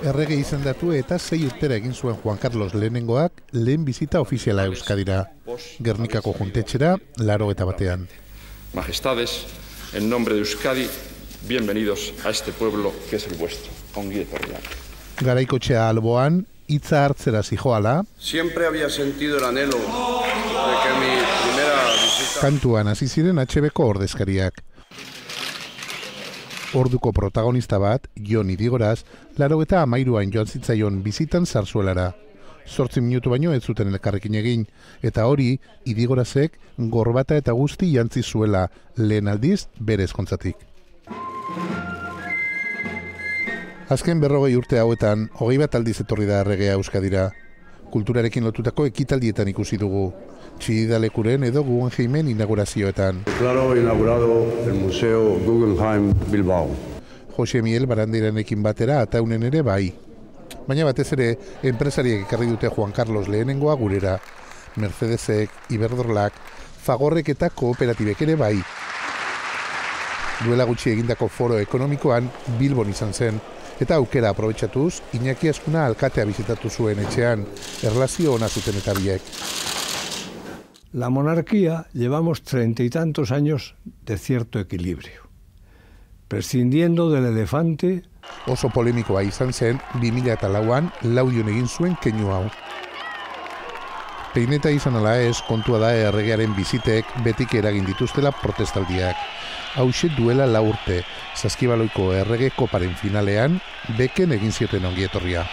Errege izendatu eta 6 urtera egin zuen Juan Carlos lehenengoak lehen bizita ofiziala Euskadira. Gernikako juntetxera, 81. Majestades, en nombre de Euskadi, bienvenidos a este pueblo que es el vuestro. Ongi etorriak. Garaikotxea alboan, hitza hartzera zijoala. Siempre había sentido el anhelo de que mi primera visita... Kantuan hasi ziren HB-ko ordezkariak. Orduko protagonista bat, Jon Idigoraz, 83an joan zitzaion bizitan Zarzuelara. 8 minutu baino ez zuten elkarrekin egin, eta hori Idigorazek gorbata eta guzti jantzi zuela, lehen aldiz bere ezkontzatik. Azken 40 urte hauetan, 21 aldiz etorri da erregea Euskadira. Kulturarekin lotutako ekitaldietan ikusi dugu. Txidalekuren edo Guggenheimen inaugurazioetan. Claro, inaugurado el Museo Guggenheim Bilbao. Jose Miel Barandiranekin batera ataunen ere bai. Baina batez ere, enpresariek ekarri dute Juan Carlos lehenengoa gurera. Mercedesek, Iberdrolak, Fagorrek eta kooperatibek ere bai. Duela gutxi egindako foro ekonomikoan Bilbon izan zen, eta aukera aprobetxatuz, Iñaki Azkuna alkatea bizitatu zuen etxean, erlazio ona zuten eta biek. La monarquía llevamos 30 y tantos años de cierto equilibrio, prescindiendo del elefante. Oso polemikoa izan zen 2004an Laudion egin zuen keinu hau. Peineta izan ala ez, kontua da erregearen bizitek betik eragin dituztela protestaldiak. Hauxe duela 4 urte, Saskibaloiko errege koparen finalean, beken egin zioten ongietorria.